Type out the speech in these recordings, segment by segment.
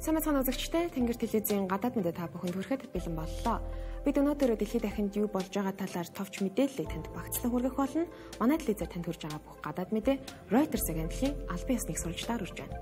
Сайн мэцхан үзэгчтэй Тэнгэр телевизийн гадаад мэдээ та бүхэнд хүрэхэд бэлэн боллоо. Бид өнөөдөр дэлхийд дахинд юу болж байгаа талаар товч мэдээллийг танд багцлан хүргэх болно. Манай телевизээр танд хүрж байгаа бүх гадаад мэдээ Reuters агентлагийн албан ёсны сурвалжлаар үрж байна.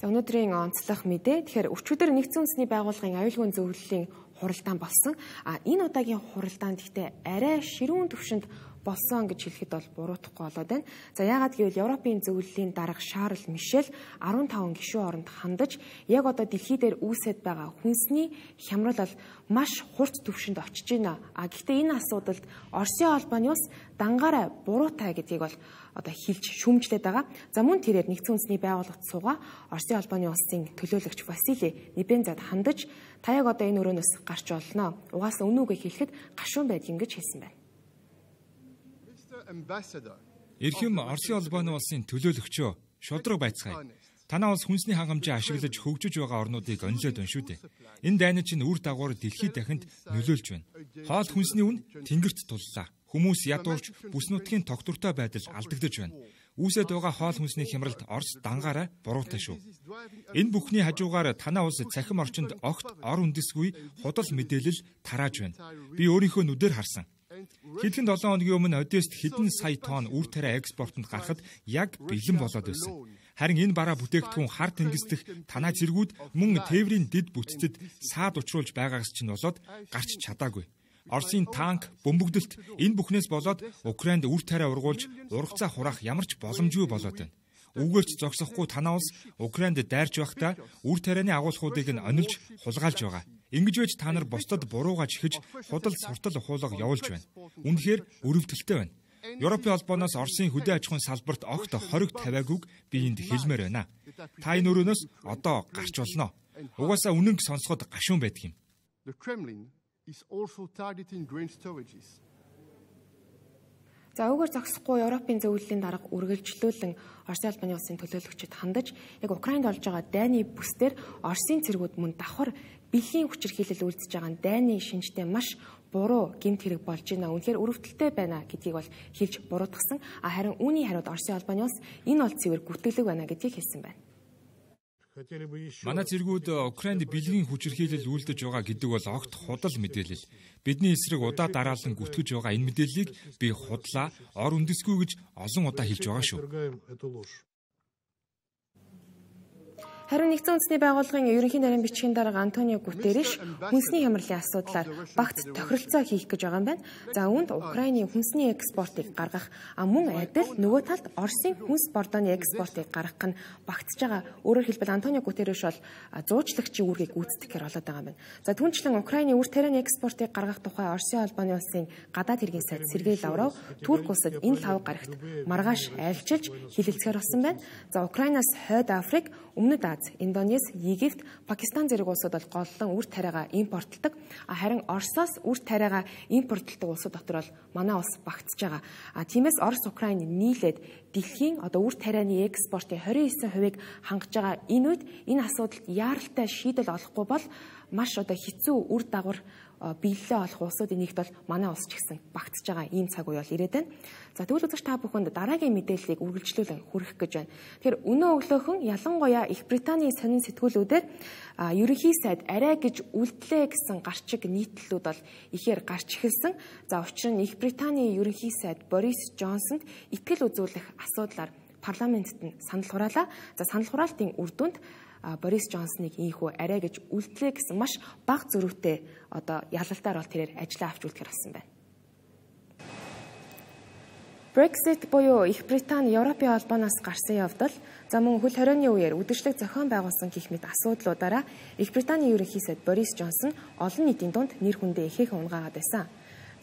Өнөөдрийн онцлог мэдээ. Тэгэхээр өчигдөр Нэгдсэн үндэсний байгууллагын аюулгүй зөвлөлийн хуралдаан болсон. Энэ удаагийн хуралдаанд гэхдээ арай ширүүн түвшинд болсон гэж хэлэхэд бол буруутахгүй болоод байна. За яагаад гэвэл Европын зөвлөлийн дарга Шарл Мишель 15 гишүүн оронд хандаж яг одоо дэлхий дээр үүсэт байгаа хүнсний хямрал бол маш хурц түвшинд очиж байна. Гэхдээ энэ асуудалд Оросын холбооны ус дангаараа буруутай гэдгийг бол одоо хэлж шүүмжлээд байгаа. За мөн тэрээр Нэгдсэн үндэсний байгууллагт суугаа Оросын холбооны улсын төлөөлөгч Василий Небензад хандаж та яг одоо энэ өрөөнөөс гарч олно. Угаасаа үнэ үгээ хэлэхэд гашуун байдгийг гэж хэлсэн байна. Эрхэм Оросын холбооны улсын төлөөлөгчөө шудраг байцгаая. Танаа улс хүнсний хангамжаа ашиглаж хөгжиж байгаа орнуудыг онилоод байна шүү дээ. Энэ дайны чинь үр дагавар дэлхийд дахинд нөлөөлж байна. Хоол хүнсний үн тэнгэрт туллаа. Хүмүүс ядуурч бүс нутгийн тогтвортой байдал алдагдаж байна. Үүсэт байгаа хоол хүнсний хямралд Орос дангаараа буруутай шүү. Энэ бүхний хажуугаар танаа улс цахим орчинд огт ор үндэсгүй худал мэдээлэл тарааж байна. Би өөрийнхөө нүдээр харсан. Хэдхэн 7 хоногийн өмнө Одесст хэдэн сая тонн үр тариа экспортод гарахад яг бэлэн болоод байсан. Харин энэ бараа бүтээгдэхүүн хар тэнгис дэх танаа цэргүүд мөн тээврийн дэд бүтцэд саад учруулж байгаагаас чинь болоод гарч чадаагүй. Оросын танк, бөмбөгдөлт энэ бүхнээс болоод Украинд үр тариа ургуулж ургацаа хураах ямар ч боломжгүй болоод байна. Үгээрч зогсохгүй танаа улс Украинд дайрч байхдаа үр тарианы агуулгуудыг нь онилж хулгайлж байгаа. Ингэж байж та нар бусдад буруугаа чихэж худал суртал ухуулга явуулж байна. Үнэхээр өрөвдөлттэй байна. Европын холбооноос Оросын хөдөө аж ахуйн салбарт огт хориг тавиагүйг би энд хэлмээр байна. Та энэ өрөөнөөс одоо гарч болно. Угаасаа үнэнг сонсоход гашуун байдаг юм. За өгөр зогсохгүй Европын зөвлөлийн дарга үргэлжлүүлэн Оросын албаны улсын төлөөлөгчөд хандаж яг Украинд болж байгаа дайны бүсдэр Оросын цэргүүд мөн давхар бэлгийн хүчирхийлэл үйлдэж байгаа дайны шинжтэй маш буруу гэмт хэрэг болж байна. Үнэхээр өрөвдөлттэй байна гэдгийг бол хэлж буруутгасан. Харин үүний хариуд Оросын албаны улс энэ бол цэвэр гүтгэлэг байна гэдгийг хэлсэн байна. Манай цэргүүд Украинд бэлгийн хүчирхийлэл үйлдэж байгаа гэдэг бол огт худал мэдээлэл. Бидний эсрэг удаа дараалан гүтгэж байгаа энэ мэдээллийг би худлаа, ор үндэсгүй гэж олон удаа хэлж байгаа шүү. Харин Нэгдсэн үндэсний байгууллагын ерөнхий нарийн бичгийн дарга Антонио Гутерриш хүнсний хямралын асуудлаар багц тохиролцоо хийх гэж байгаа юм байна. За үүнд Украины хүнсний экспортыг гаргах мөн адил нөгөө талд Оросын хүнс бордооны экспортыг гаргах нь багтж байгаа. Өөрөөр хэлбэл Антонио Гутерриш бол зуучлагчийн үүргийг гүйцэтгэхээр болоод байгаа юм байна. За түүнчлэн Украины үр тарианы экспортыг гаргах тухай Оросын холбооны улсын гадаад хэргийн сайд Сергей Лавров Турк улсад энэ лав гарагт маргааш айлчилж хилэлцгээр болсон байна. За Украинаас Хойд Африк, Өмнөд Аз, Индонез, Египт, Пакистан зэрэг улсууд бол голлон үр тариагаа импортлдог. Харин Оросоос үр тариагаа импортлдог улсууд дотор бол манай улс багтж байгаа. Тиймээс Орос Украин нийлээд дэлхийн одоо үр тарианы экспортын 29%-ийг хангаж байгаа. Энэ үед энэ асуудалд яаралтай шийдэл олохгүй бол маш одоо хэцүү үр дагавар биелэлээ олох улсуудын нэгт бол манай улс ч гэсэн багтж байгаа ийм цаг үе бол ирээд байна. За тэгвэл үзэгч та бүхэнд дараагийн мэдээллийг үргэлжлүүлэн хүргэх гэж байна. Тэгэхээр өнөө өглөөхөн ялангуяа Их Британий сонин сэтгүүлүүдээр ерөнхий сайд арай гэж үлдлээ гэсэн гарчиг нийтлэлүүд бол ихээр гарч эхэлсэн. За учир нь Их Британий ерөнхий сайд Борис Джонсонд итгэл үзүүлэх асуудлаар парламентэд нь санал хураалаа. За санал хураалтын үр дүнд Борис Джонсныг ийхүү арай гэж үлдлээ гэсэн маш бага зөрүүтэй одоо ялалтаар бол тэрээр ажиллаа авч үлдэхэр болсон байна. Brexit буюу Их Британи Европын холбооноос гарсан явдал за мөн хөл хорионы үеэр үдшилэг зохион байгуулсан гэх мэт асуудлуудаараа Их Британий ерөнхий сайд Борис Джонсон олон нийтийн дунд нэр хүндээ ихээхэн унгаагаад байсан.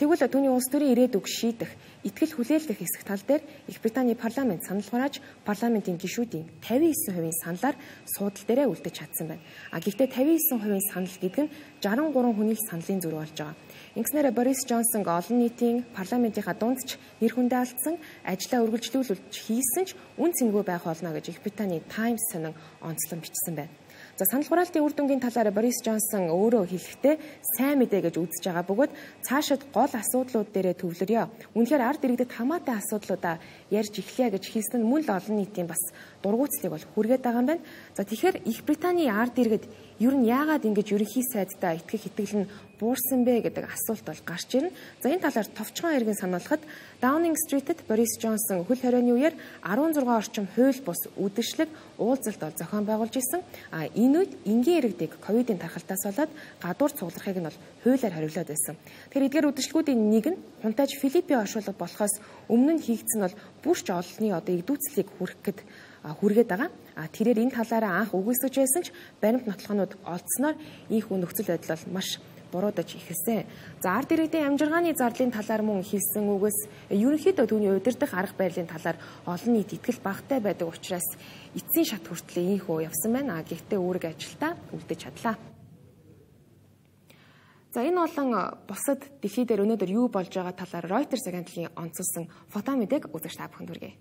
Тэгвэл түүний улс төрийн ирээдүг шийдэх, итгэл хүлээлгэх хэсэг тал дээр Их Британий парламент санал хурааж, парламентын гишүүдийн 59% саналаар суудал дээрээ үлдэж чадсан байна. Гэхдээ 59% санал гэдэг нь 63 хүний саналын зүрх болж байгаа. Ингэснээр Борис Джонсон олон нийтийн парламентынхаа дунд ч нэр хүндээ алдсан, ажлаа үргэлжлүүлж хийсэн ч үн цэнгүй байх болно гэж Их Британий Times сонин онцлон бичсэн байна. За санал хураалтын үр дүнгийн талаар Борис Джонсон өөрөө хэлэхдээ сайн мэдээ гэж үзэж байгаа бөгөөд цаашид гол асуудлууд дээрээ төвлөрье. Үнэхээр ард иргэдэд хамаатай асуудлуудаа ярьж эхлэе гэж хэлсэн нь мөн л олон нийтийн бас дургуутслыг бол хүргээд байгаа юм байна. За тэгэхээр Их Британий ард иргэд ер нь яагаад ингэж ерөнхий сайдтай итгэх итгэл нь буурсан бэ гэдэг асуулт бол гарч ирнэ. За энэ талаар товчхон иргэн сануулахад Downing Street-д Борис Джонсон хөл хорионы үеэр 16 орчим хууль бус үдэшлэг уулзалт бол зохион байгуулж исэн. Энэ үед энгийн иргэдийг ковидын тархалтаас болоод гадуур цугларахыг нь бол хуулиар хариулаад байсан. Тэгэхээр эдгээр үдэшлэгүүдийн нэг нь хунтайж Филиппийн оршуулга болохоос өмнө нь хийгдсэн бол бүрч олонний одоо игдүүцлийг хүргээд байгаа. Тэрээр энэ талаараа анх үгүйсгэж байсан ч баримт нотлохонууд олдсноор ийхүү нөхцөл байдал бол маш буруудаж эхэлсэн. За ард иргэдийн амжиргааны зарлалын талаар мөн хэлсэн үгээс ерөнхийдөө түүний удирдах арга барилын талаар олон нийт итгэл багтай байдаг учраас эцсийн шат хүртэл ийхүү явсан байна. Гэхдээ үүрэг ажилдаа үлдэж чадлаа. За энэ болон бусад дэлхий дээр өнөөдөр юу болж байгаа талаар Reuters агентлагийн онцолсон фото мэдээг үзэж та бүхэнд хүргэе.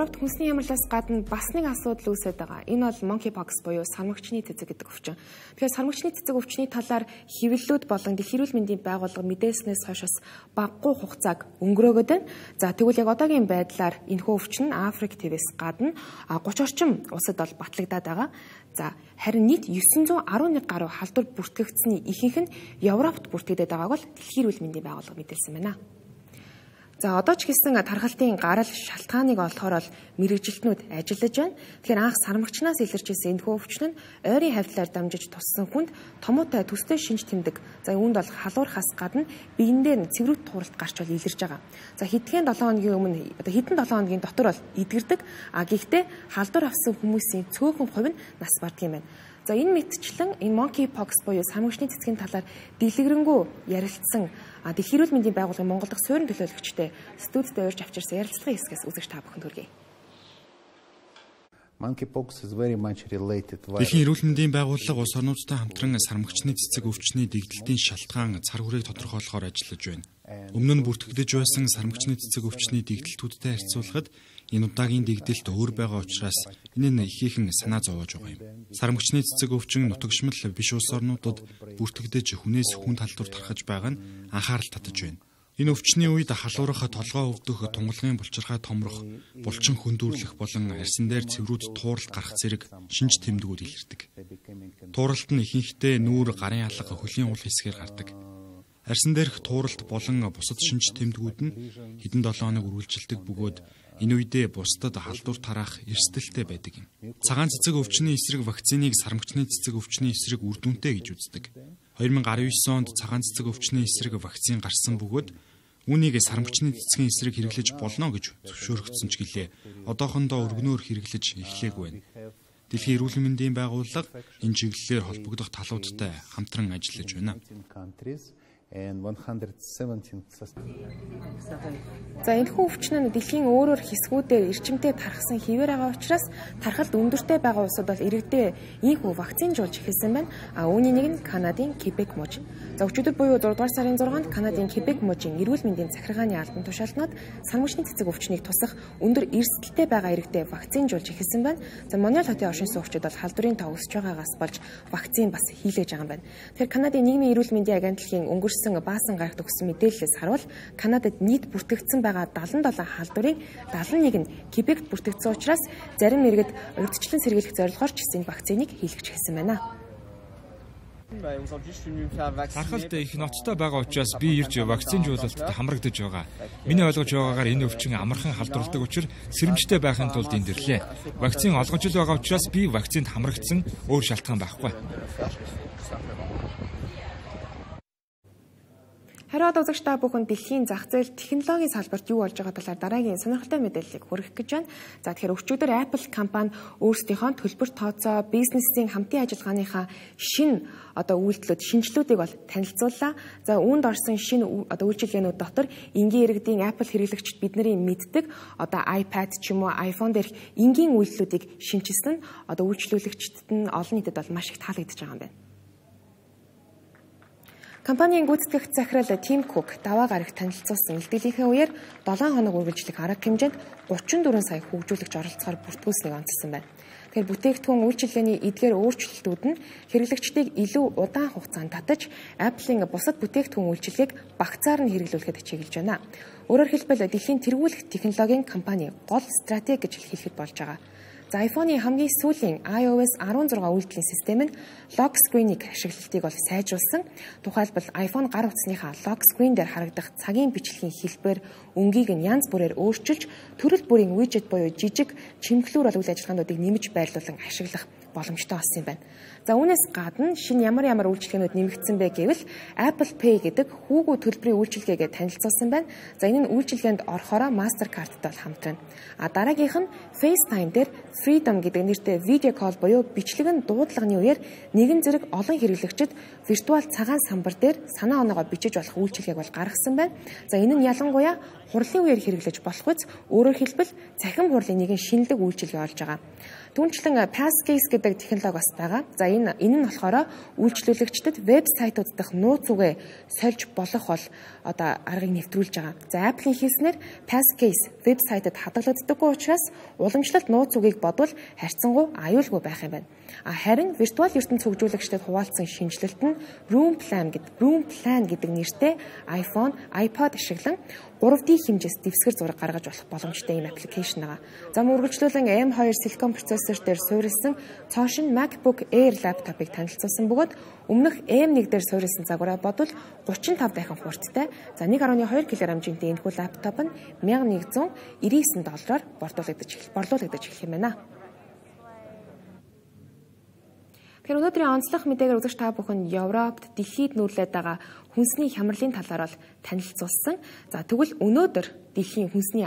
Европт хүнсний ямарлаас гадна бас нэг асуудал үүсээд байгаа. Энэ бол monkeypox буюу сармагчны цэцэг гэдэг өвчин. Тэгэхээр сармагчны цэцэг өвчний талаар хэвлэлүүд болон Дэлхийн эрүүл мэндийн байгууллага мэдээснээс хойш багагүй хугацааг өнгөрөөгд байна. За тэгвэл яг одоогийн байдлаар энэхүү өвчин нь Африк твээс гадна 30 орчим улсад бол батлагдаад байгаа. За харин нийт 911 гаруй халдвар бүртгэгдсэний ихэнх нь Европт бүртгэгдээд байгааг бол Дэлхийн эрүүл мэндийн байгууллага мэдээлсэн байна. За одоо ч гэсэн тархалтын гарал шалтгааныг олохоор бол мэрэгжилтнүүд ажиллаж байна. Тэгэхээр анх сармагчнаас илэрч ирсэн энэхүү өвчин нь ойрын хавьтлаар дамжиж туссан хүнд томоотой төстэй шинж тэмдэг. За үүнд бол халуурхаас гадна биендээ цэврүүд тууралт гарч бол илэрж байгаа. За хэдхэн 7 хоногийн өмнө хэдэн 7 хоногийн дотор бол эдгэрдэг. Гэхдээ халдвар авсан хүмүүсийн цөөхөн хувь нь нас барддаг юм байна. За энэ мэтчлэн энэ monkeypox буюу сармагчны цэцгийн талаар дэлгэрэнгүй ярилцсан Дэлхийн эрүүл мэндийн байгууллагын Монгол дахь суурин төлөөлөгчтэй студид урьж авчирсан ярилцлагын хэсгээс үзэж та бүхэнд хүргэе. Дэлхийн эрүүл мэндийн байгууллага улс орнуудтай хамтран сармагчны цэцэг өвчний дэгдэлтийн шалтгаан цар хүрээг тодорхойлохоор ажиллаж байна. Өмнө нь бүртгэгдэж байсан сармагчны цэцэг өвчний дэгдэлтүүдтэй харьцуулахад энэ удаагийн дэгдэлт өөр байгаа учраас энэ нь ихээхэн санаа зовоож байгаа юм. Сармагчны цэцэг өвчин нутагшмал биш улс орнуудад бүртгэгдэж хүнээс хүнд халдвар тархаж байгаа нь анхаарал татаж байна. Энэ өвчний үед халуурах, толгой өвдөх, тунгалгын булчирхай томрох, булчин хөндүүрлэх болон арьсан дээр цэврүүд тууралт гарах зэрэг шинж тэмдгүүд илэрдэг. Тууралт нь ихэнхдээ нүүр, гарын алга, хөлийн уул хэсгээр гардаг. Арьсан дээрх тууралт болон бусад шинж тэмдгүүд нь хэдэн 7 хоног үргэлжилдэг бөгөөд энэ үедээ бусдад халдвар тараах эрсдэлтэй байдаг юм. Цагаан цэцэг өвчний эсрэг вакциныг сармагчны цэцэг өвчний эсрэг үр дүнтэй гэж үздэг. 2019 онд цагаан цэцэг өвчний эсрэг вакцин гарсан бөгөөд үүнийг сармагчны цэцгийн эсрэг хэрэглэж болно гэж зөвшөөрөгдсөн ч гэлээ. Одоохондоо өргөнөөр хэрэглэж эхлэегүй байна. Дэлхийн эрүүл мэндийн байгууллага энэ чиглэлээр холбогдох талуудтай хамтран ажиллаж байна. За энэхүү өвчин нь дэлхийн өөрөөр хэсгүүдээр эрчимтэй тархсан хിവэр байгаа учраас тархалт өндөртэй байгаа улсууд бол иргэдээ ийхүү вакцинжуулж эхэлсэн байна. Үүний нэг нь Канадын Кебек муж. За өчигдөр буюу 4 дугаар сарын 6-нд Канадын Кебек мужийн эрүүл мэндийн захиргааны албан тушаалтнууд сармагчны цэцэг өвчнийг тусах өндөр эрсдэлтэй байгаа иргэдээ вакцинжуулж эхэлсэн байна. За Монреаль хотын оршин суугчид бол халдварын тоо өсөж байгаагаас болж вакцин бас хийлгэж байгаа юм байна. Тэгэхээр Канадын нийгмийн эрүүл мэндийн агентлагийн өнгөрсөн төрүүлсэн баасан гарагт өгсөн мэдээлэлээс харуул Канадад нийт бүртгэгдсэн байгаа 77 халдварын 71 нь Кебект бүртгэгдсэн учраас зарим иргэд урьдчилан сэргийлэх зорилгоор ч энэ вакциныг хийлгэж хэлсэн байна. Харахад их ноцтой байгаа учраас би ирж вакцинжуулалтад хамрагдаж байгаа. Миний ойлгож байгаагаар энэ өвчин амархан халдварладаг учраас сэрэмжтэй байхын тулд энд ирлээ. Вакцин олгож л байгаа учраас би вакцинд хамрагдсан, өөр шалтгаан байхгүй. Хариуд үзэгч та бүхэн дэлхийн зах зээл технологийн салбарт юу болж байгаа талаар дараагийн сонирхолтой мэдээллийг хүргэх гэж байна. За тэгэхээр өчигдөр Apple компани өөрсдийнхөө төлбөр тооцоо, бизнесийн хамтын ажиллагааныхаа шинэ үйлчлүүдийг бол танилцууллаа. За үүнд орсон шинэ үйлчилгээнүүд дотор энгийн иргэдийн Apple хэрэглэгчид бидний мэддэг iPad ч юм уу iPhone дээрх энгийн үйлчлүүдийг шинжилсэн нь үйлчлүүлэгчдэд нь олон нийтэд бол маш их таалагдж байгаа юм байна. Компанийн гүйцэтгэх захирал Тим Кук даваа гарагт танилцуулсан илтгэлийнхээ үеэр 7 хоног үргэлжлэх арга хэмжээнд 34 сая хөгжүүлэгч оролцохоор бүртгүүлснийг онцлсан байна. Тэгэхээр бүтээгдэхүүн үйлчилгээний эдгээр өөрчлөлтүүд нь хэрэглэгчдийг илүү удаан хугацаанд татаж, Apple-ийн бусад бүтээгдэхүүн үйлчилгээг багцаар нь хэрэглүүлэхэд чиглэж байна. Өөрөөр хэлбэл дэлхийн тэргүүлэх технологийн компани гол стратеги гэж хэлэхэд болж байгаа. За iPhone-ийн хамгийн сүүлийн iOS 16 үйлдвэрлэлийн систем нь lock screen-ийг ашиглалтыг бол сайжруулсан. Тухайлбал iPhone гар утасныхаа lock screen дээр харагдах цагийн бичлэгийн хэлбэр, өнгийг нь янз бүрээр өөрчилж, төрөл бүрийн widget буюу жижиг чимэглүүр үйл ажиллагаануудыг нэмж байрлуулан ашиглах боломжтой болсон юм байна. За үүнээс гадна шинэ ямар үйлчилгээнүүд нэмэгдсэн бэ гэвэл Apple Pay гэдэг хүүгүү төлбөрийн үйлчилгээгээ танилцуулсан байна. За энэ нь үйлчилгээнд орохороо Mastercard-тай хамтрана. Дараагийнх нь FaceTime дээр Freedom гэдэг нэртэй видео колл буюу бичлэг нь дуудлагын үеэр нэгэн зэрэг олон хэрэглэгчид виртуал цагаан самбар дээр санаа оноогоо бичиж болох үйлчилгээг бол гаргасан байна. За энэ нь ялангуяа хурлын үеэр хэрэглэж болох үс өөрөөр хэлбэл цахим хурлын нэгэн шинэлэг үйлчилгээ болж байгаа. Түүнчлэн Passcase гэдэг технологи бас байгаа. За энэ нь болохоор үйлчлүүлэгчдэд вебсайтууд дахь нууц үгээ сольж болох бол аргыг нэвтрүүлж байгаа. За Apple-ийн хэлснээр Passcase вебсайтад хадгалагддаггүй учраас уламжлалт нууц үгийг бодвол харьцангуй аюулгүй байх юм байна. Харин виртуал ертөнц хөгжүүлэгчдэд хуваалцсан шинжилэлт нь Room Plan гэдэг нэртэй iPhone, iPod ашиглан 3D хэмжээс дэвсгэр зураг гаргаж болох боломжтой ийм аппликейшн байгаа. За үргэлжлүүлэн M2 Silicon процессор дээр суурилсан цоошин MacBook Air лаптопыг танилцуулсан бөгөөд өмнөх M1 дээр суурилсан загвараа бодвол 35 дахин хурдтай. За 1.2 кг хэмжээний энэхүү лаптоп нь $1199 борлуулагдаж эхлэх юм байна. Тэгэхээр өнөөдрийн онцлог мэдээгээр үзэгч та бүхэн Европт дэлхийд нүүрлээд байгаа хүнсний хямралын талаар бол танилцуулсан. За тэгвэл өнөөдөр дэлхийн хүнсний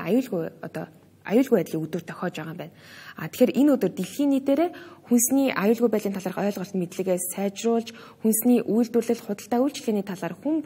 аюулгүй байдлын өдөр тохиож байгаа юм байна. Тэгэхээр энэ өдөр дэлхийн нийтээрээ хүнсний аюулгүй байдлын талаарх ойлголт мэдлэгээ сайжруулж, хүнсний үйлдвэрлэл худалдаа үйлчилгээний талаар хүн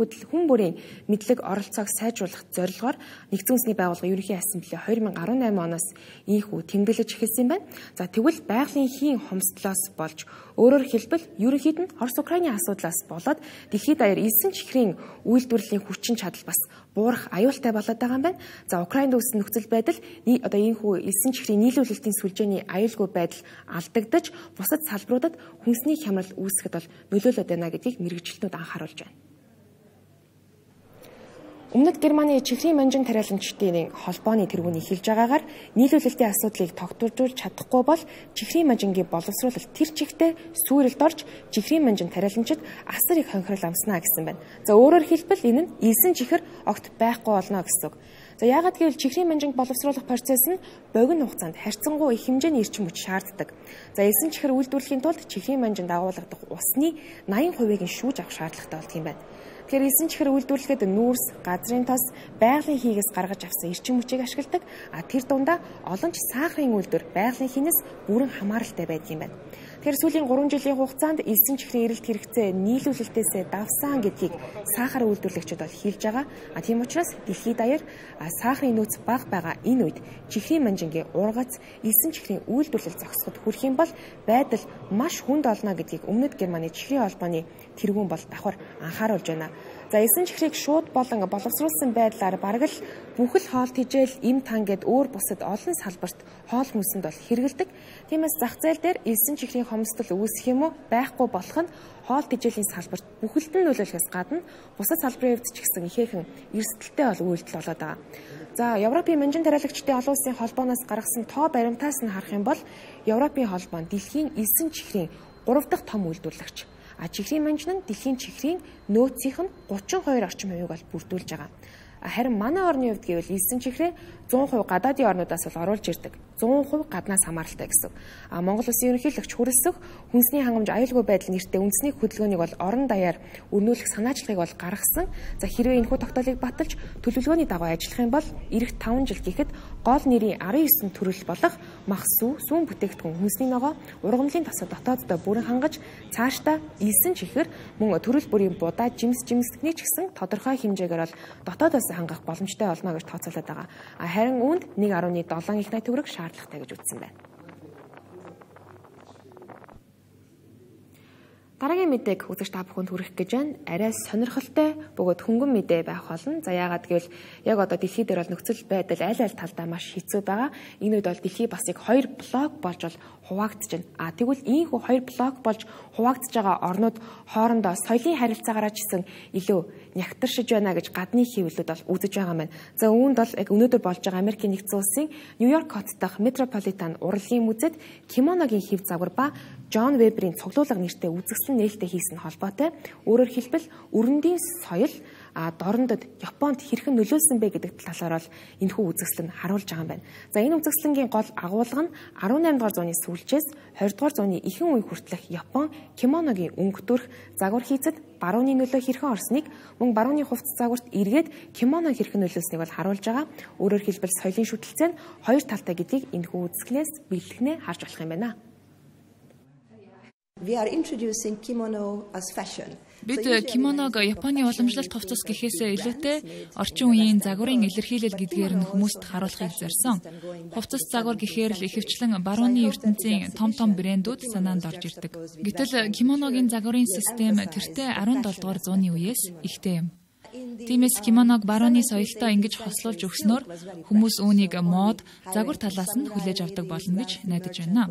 бүрийн мэдлэг оролцоог сайжруулах зорилгоор Нэгдсэн үндэсний байгууллагын ерөнхий ассамбле 2018 оноос ийхүү тэмдэглэж эхэлсэн байна. За тэгвэл байгалийн хийн хомсдлоос болж өөрөөр хэлбэл ерөнхийд нь Орос-Украиний асуудлаас болоод дэлхийд даяар элсэн чихрийн үйлдвэрлэлийн хүчин чадал бас буурах аюултай болоод байгаа юм байна. За Украинд үүссэн нөхцөл байдал ийхүү элсэн чихрийн нийлүүлэлтийн сүлжээний аюулгүй байдал алдагдаж бусад салбаруудад хүнсний хямрал үүсгэхэд бол нөлөөлөд байна гэдгийг мэргэжилтнүүд анхааруулж байна. Өмнөд Германы чихрийн манжин тариаламжтын холбооны тэргүүний хэлж байгаагаар нийлүүлэлтийн асуудлыг тогтворжуулж чадахгүй бол чихрийн манжингийн боловсруулалт тэр чигтээ сүйрэлд орж чихрийн манжин тариаламжид асар их хонхирол амснаа гэсэн байна. За өөрөөр хэлбэл энэ нь элсэн чихэр огт байхгүй болно гэсэн үг. За яагаад гэвэл чихрийн манжинг боловсруулах процесс нь богино хугацаанд харьцангуй их хэмжээний эрчим хүч шаарддаг. За элсэн чихэр үйлдвэрлэхийн тулд чихрийн манжинд агуулгадах усны 80%-ийг нь шүүж авах шаардлагатай болдго юм байна. Тэгэхээр элсэн чихэр үйлдвэрлэхэд нүүрс, газрын тос, байгалийн хийгээс гаргаж авсан эрчим хүчийг ашигладаг. Тэр дундаа олон ч сахарын үйлдвэр байгалийн хийнээс бүрэн хамааралтай байдаг юм байна. Тэгэхээр сүүлийн 3 жилийн хугацаанд элсэн чихрийн эрэлт хэрэгцээ нийлүүлэлтээсээ давсан гэдгийг сахар үйлдвэрлэгчид бол хэлж байгаа. Тийм учраас дэлхийд даяар сахарын нөөц бага байгаа энэ үед чихрийн манжингийн ургац элсэн чихрийн үйлдвэрлэл зогсоход хүрэх юм бол байдал маш хүнд олно гэдгийг Өмнөд Германы чихрийн холбооны тэргүүн бол давхар анхааруулж байна. За элсэн чихрийг шууд болон боловсруулсан байдлаар бараг л бүхэл хоол тэжээл, им тан гэд өөр бусад олон салбарт хоол хүнсэнд бол хэрэгэлдэг. Тиймээс зах зээл дээр элсэн чихрийн хомсдол үүсэх юм уу байхгүй болох нь хоол тэжээлийн салбарт бүхэлд нь нөлөөлөхөөс гадна бусад салбарын хувьд ч гэсэн ихээхэн эрсдэлтэй бол үйлдэл болоод байгаа. За, Европын манжин тариалагчдын олон улсын холбооноос гаргасан тоо баримтаас нь харах юм бол Европын холбоо нь дэлхийн элсэн чихрийн 3 дахь том үйлдвэрлэгч. Чихрийн манжин нь дэлхийн чихрийн нөөцийнх нь 32% орчим хувийг бол бүрдүүлж байгаа. Харин манай орны хувьд гэвэл элсэн чихрээ 100% гадаадын орнуудаас бол оруулж ирдэг. 100% гаднаас хамааралтай гэсэн. Монгол Улсын ерөнхийлөгч хүрэлцэх хүнсний хангамж аюулгүй байдал нэртэй үндэсний хөдөлгөөнийг бол орон даяар өрнүүлэх санаачлагыг бол гаргасан. За, хэрвээ энэхүү тогтоолыг баталж төлөвлөгөөний дагуу ажиллах юм бол эх 5 жил гэхэд гол нэрийн 19 төрөл болох мах сүү, сүүн бүтээгдэхүүн, хүнсний ногоо, ургамлын тосод дотооддоо бүрэн хангаж цаашдаа элсэн чихэр мөн төрөл бүрийн будаа, жимсдэгний ч гэсэн тодорхой хэмжээгээр бол дотоодоос хангах боломжтой болно гэж тооцоолоод байгаа. Харин үүнд 1.7 их найт төгрөг шаардлагатай гэж үзсэн байна. Дараагийн мэдээг үзэгч та бүхэнд хүргэх гэж байна. Арай сонирхолтой бөгөөд хөнгөн мэдээ байх болно. За, яагаад гэвэл яг одоо дэлхий дээр бол нөхцөл байдал аль аль талдаа маш хэцүү байгаа. Энэ үед бол дэлхий бас яг 2 блок болж бол хуваагдж байна. Тэгвэл ийхүү 2 блок болж хуваагдж байгаа орнууд хоорондоо соёлын харилцаагаараа ч гэсэн илүү нягтаршиж байна гэж гадны хэвлэлүүд бол үзэж байгаа маань. За, үүнд бол яг өнөөдөр болж байгаа Америкийн нэгдсэн улсын Нью-Йорк хот дахь Метрополитен урлагийн музейд кимоногийн хэв загвар ба Джон Веберийн цуглуулга нэртэй үзэсгэлэн нээлттэй хийсэн холбоотой. Өөрөөр хэлбэл өрөндийн соёл дорндод Японд хэрхэн нөлөөлсөн бэ гэдэг талаар бол энэхүү үзэсгэлэн харуулж байгаа юм байна. За, энэ үзэсгэлэнгийн гол агуулга нь 18 дугаар зууны сүүлчээс 20 дугаар зууны ихэнх үе хүртэлх Япон кимоногийн өнгө төрх загвар хийцэд барууны нөлөө хэрхэн орсныг, мөн барууны хувцас загварт эргээд кимоно хэрхэн нөлөөлснийг бол харуулж байгаа. Өөрөөр хэлбэл соёлын шүтэлцээ нь хоёр талтай гэдгийг энэхүү үзэсгэлэнээс биелэгнээ харж болох юм байна. We are introducing kimono as fashion. Бид кимоног Японы уламжлалт хувцас гэхээсээ илүүтэй орчин үеийн загварын илэрхийлэл гэдгээр нь хүмүүст харуулахыг зорьсон. Хувцас загвар гэхээр л ихэвчлэн барууны ертөнцийн том брэндүүд санаанд орж ирдэг. Гэтэл кимоногийн загварын систем тэртээ 17 дугаар зууны үеэс ихтэй юм. Тиймээс кимоног барууны соёлтой ингэж хослуулж өгснөөр хүмүүс үүнийг мод, загвар талаас нь хүлээж авдаг болно гэж найдаж байна.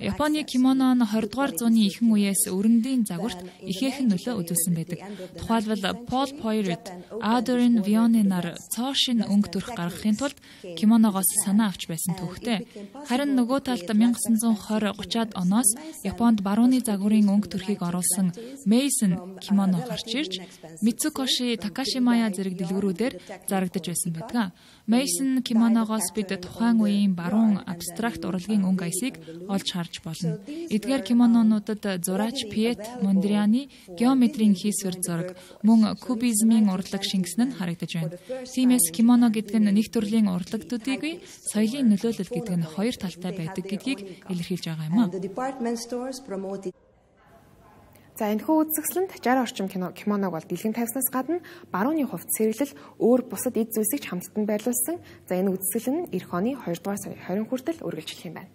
Японы кимоно нь 20 дугаар зууны ихэнх үеэс өрөндийн загварт ихээхэн нөлөө үзүүлсэн байдаг. Тухайлбал Пол Пойрет, Адерин Вионенаар цоошин өнгө төрх гаргахын тулд кимоногоос санаа авч байсан түүхтэй. Харин нөгөө талд 1920-30-ад оноос Японд барууны загварын өнгө төрхийг оруулсан Мейсон кимоно гарч ирж Мицукоши Такашимая зэрэг дэлгүүрүүдээр зарагдаж байсан байдаг. Мейсон кимоногоос бид тухайн үеийн баруун абстракт урлагийн өнгө аясыг олж харж болно. Эдгээр кимононуудад зураач Пьет Мондрианы геометрийн хийсвэр зураг, мөн кубизмын урлаг шингэсэн нь харагдаж байна. Тиймээс кимоно гэдэг нь нэг төрлийн урлагтуудыг соёлын нөлөөлөл гэдэг нь хоёр талтай байдаг гэдгийг илэрхийлж байгаа юм а. За, энэхүү үзэсгэлэнт 60 орчим кимоног бол дэлгэн тавьснаас гадна барууны хувцас сэргэлэл өөр бусад эд зүйлсийг ч хамттан байрлуулсан. За, энэ үзэсгэлэн нь эх оны 2 дугаар сарын 20 хүртэл үргэлжлэх юм байна.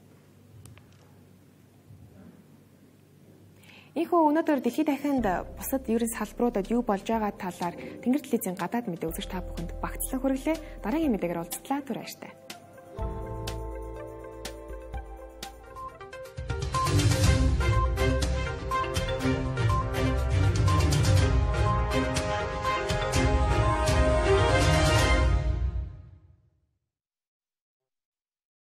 Ийхүү өнөөдөр дэлхийд дахинд бусад ерөн салбаруудад юу болж байгаа талаар Тэнгэр телевизийн гадаад мэдээ үзэгч та бүхэнд багцлан хүргэлээ. Дараагийн мэдээгээр уулзтлаа. Түр баяртай.